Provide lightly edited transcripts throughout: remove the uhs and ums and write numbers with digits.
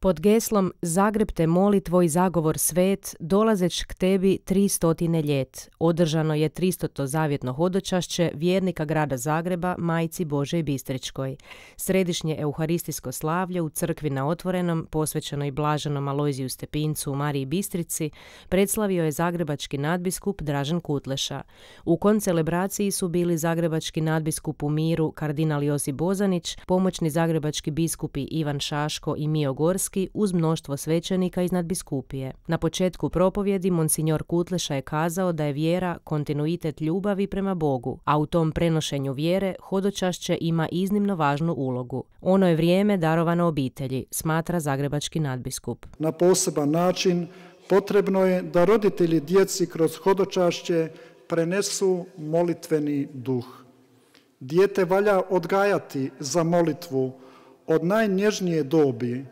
Pod geslom Zagreb te moli tvoj zagovor svet, dolazeć k tebi 300 ljet, održano je 300. zavjetno hodočašće vjernika grada Zagreba Majci Božoj Bistričkoj. Središnje euharistijsko slavlje u crkvi na Otvorenom, posvećenoj blaženom Alojziju Stepincu u Mariji Bistrici, predslavio je zagrebački nadbiskup Dražen Kutleša. U koncelebraciji su bili zagrebački nadbiskup u miru kardinal Josip Bozanić, pomoćni zagrebački biskupi Ivan Šaško i Mijo Gorski uz mnoštvo svećenika iz nadbiskupije. Na početku propovjedi monsignor Kutleša je kazao da je vjera kontinuitet ljubavi prema Bogu, a u tom prenošenju vjere hodočašće ima iznimno važnu ulogu. Ono je vrijeme darovano obitelji, smatra zagrebački nadbiskup. Na poseban način potrebno je da roditelji djeci kroz hodočašće prenesu molitveni duh. Dijete valja odgajati za molitvu od najnježnije dobi.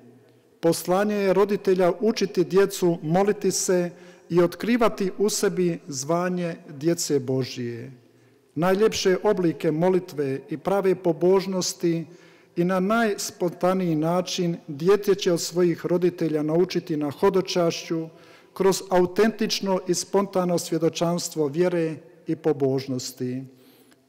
Poslanje je roditelja učiti djecu moliti se i otkrivati u sebi zvanje djece Božije. Najljepše oblike molitve i prave pobožnosti i na najspontaniji način dijete će od svojih roditelja naučiti na hodočašću kroz autentično i spontano svjedočanstvo vjere i pobožnosti.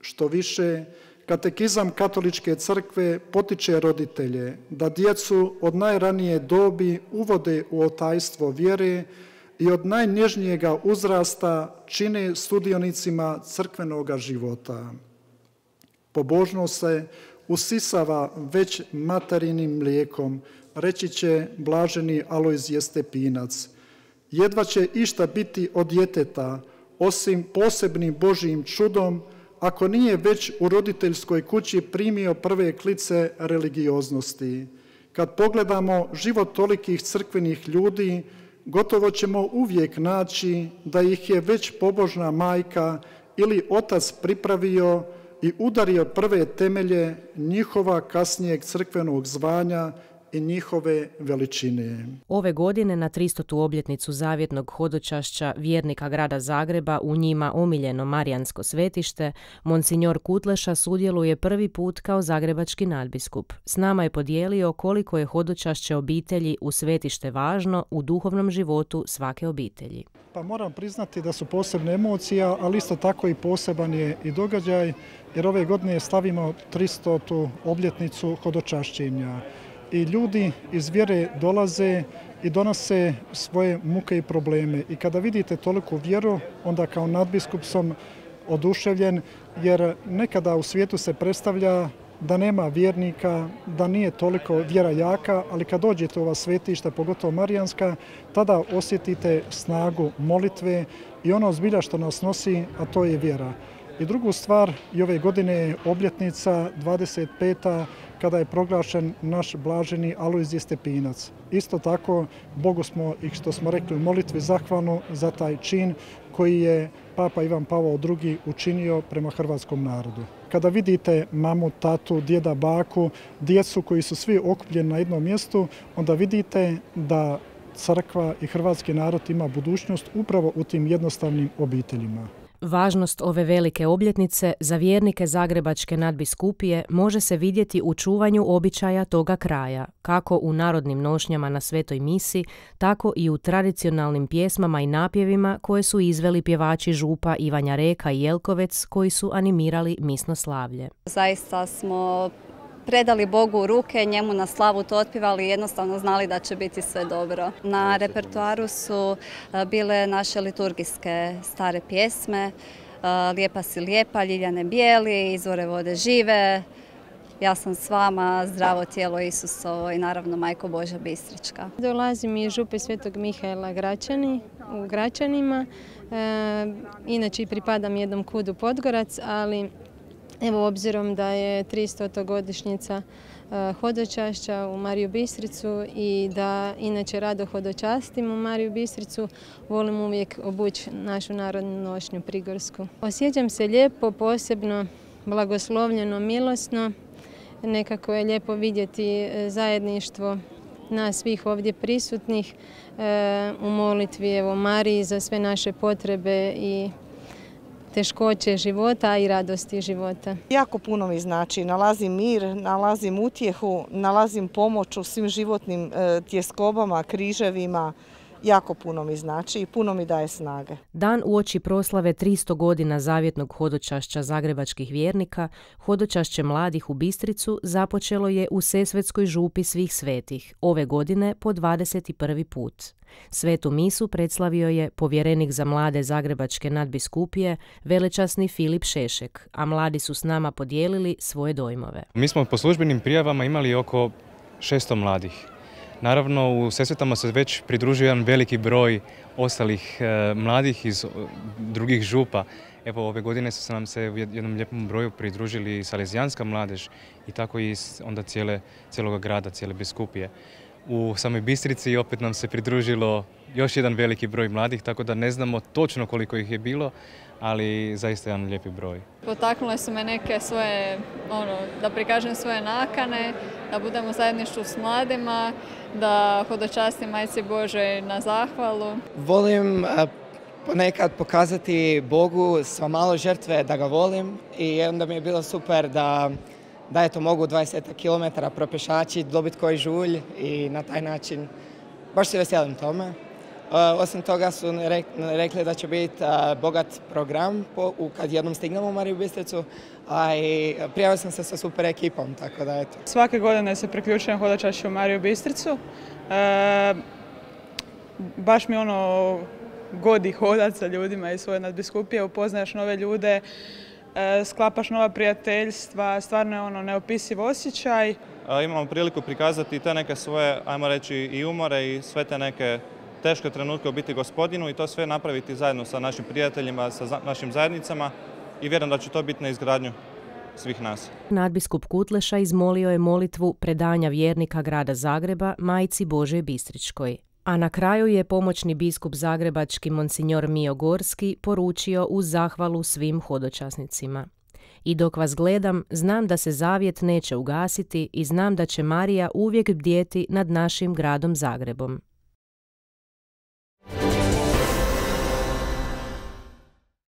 Što više, Katekizam Katoličke crkve potiče roditelje da djecu od najranije dobi uvode u otajstvo vjere i od najnježnijega uzrasta čine sudionicima crkvenoga života. Pobožnost se usisava već materinim mlijekom, reći će blaženi Alojzije Stepinac. Jedva će išta biti od djeteta, osim posebnim Božjim čudom, ako nije već u roditeljskoj kući primio prve klice religioznosti. Kad pogledamo život tolikih crkvenih ljudi, gotovo ćemo uvijek naći da ih je već pobožna majka ili otac pripravio i udario prve temelje njihova kasnijeg crkvenog zvanja i njihove veličine. Ove godine na 300. obljetnicu zavjetnog hodočašća vjernika grada Zagreba u njima omiljeno Marijansko svetište, monsignor Kutleša sudjeluje prvi put kao zagrebački nadbiskup. S nama je podijelio koliko je hodočašće obitelji u svetište važno u duhovnom životu svake obitelji. Pa moram priznati da su posebne emocije, ali isto tako i poseban je i događaj, jer ove godine slavimo 300. obljetnicu hodočašćenja. I ljudi iz vjere dolaze i donose svoje muke i probleme. I kada vidite toliku vjeru, onda kao nadbiskup sam oduševljen, jer nekada u svijetu se predstavlja da nema vjernika, da nije toliko vjera jaka, ali kad dođete u ova svetišta, pogotovo Marijanska, tada osjetite snagu molitve i ono zbilja što nas nosi, a to je vjera. I drugu stvar, i ove godine je obljetnica 25. kada je proglašen naš blaženi Alojzije Stepinac. Isto tako, Bogu smo, i što smo rekli u molitvi, zahvalni za taj čin koji je Papa Ivan Pavao II učinio prema hrvatskom narodu. Kada vidite mamu, tatu, djeda, baku, djecu koji su svi okupljeni na jednom mjestu, onda vidite da crkva i hrvatski narod ima budućnost upravo u tim jednostavnim obiteljima. Važnost ove velike obljetnice za vjernike zagrebačke nadbiskupije može se vidjeti u čuvanju običaja toga kraja, kako u narodnim nošnjama na svetoj misi, tako i u tradicionalnim pjesmama i napjevima koje su izveli pjevači župa Ivanja Reka i Jelkovec koji su animirali misno slavlje. Zaista smo predali Bogu u ruke, njemu na slavu to otpivali i jednostavno znali da će biti sve dobro. Na repertoaru su bile naše liturgijske stare pjesme, Lijepa si lijepa, Ljiljane bijeli, Izvore vode žive, Ja sam s vama, Zdravo tijelo Isusovo i naravno Majko Božja Bistrička. Dolazim iz župe Svetog Mihaela Gračani, u Gračanima, inače pripadam jednom kudu Podgorac, ali evo, obzirom da je 300. godišnjica hodočašća u Mariju Bistricu i da inače rado hodočastim u Mariju Bistricu, volim uvijek obući našu narodnu nošnju prigorsku. Osjećam se lijepo, posebno blagoslovljeno, milosno. Nekako je lijepo vidjeti zajedništvo nas svih ovdje prisutnih u molitvi Mariji za sve naše potrebe i teškoće života i radosti života. Jako puno mi znači. Nalazim mir, nalazim utjehu, nalazim pomoć u svim životnim tjeskobama, križevima. Jako puno mi znači i puno mi daje snage. Dan uoči proslave 300 godina zavjetnog hodočašća zagrebačkih vjernika, hodočašće mladih u Bistricu započelo je u Sesvetskoj župi svih svetih, ove godine po 21. put. Svetu misu predslavio je povjerenik za mlade Zagrebačke nadbiskupije, velečasni Filip Šešek, a mladi su s nama podijelili svoje dojmove. Mi smo po službenim prijavama imali oko 600 mladih. Naravno, u Sesvetama se već pridružuje jedan veliki broj ostalih mladih iz drugih župa. Evo, ove godine su nam se u jednom lijepom broju pridružili i Salezijanska mladež i tako i onda cijelog grada, cijele biskupije. U samoj Bistrici opet nam se pridružilo još jedan veliki broj mladih, tako da ne znamo točno koliko ih je bilo, ali zaista jedan lijepi broj. Potaknule su me neke svoje, da prikažem svoje nakane, da budemo u zajedništvu s mladima, da hodočastim Majci Božoj na zahvalu. Volim ponekad pokazati Bogu sva malo žrtve da ga volim i onda mi je bilo super da eto mogu 20 km propješačiti, dobiti koji žulj i na taj način baš se veselim tome. Osim toga su rekli da će biti bogat program kad jednom stignemo u Mariju Bistricu, a i prijavio sam se sa super ekipom, tako da eto. Svake godine se priključujem hodočašću u Mariju Bistricu. Baš mi godi hodat sa ljudima iz svoje nadbiskupije, upoznaješ nove ljude, sklapaš nova prijateljstva, stvarno je neopisiv osjećaj. Imamo priliku prikazati te neke svoje, ajmo reći, i umore i sve te neke teške trenutke u biti Gospodinu i to sve napraviti zajedno sa našim prijateljima, sa našim zajednicama i vjerujem da će to biti na izgradnju svih nas. Nadbiskup Kutleša izmolio je molitvu predanja vjernika grada Zagreba Majci Božoj Bistričkoj. A na kraju je pomoćni biskup zagrebački monsignor Mio Gorski poručio uz zahvalu svim hodočasnicima. I dok vas gledam, znam da se zavjet neće ugasiti i znam da će Marija uvijek bdjeti nad našim gradom Zagrebom.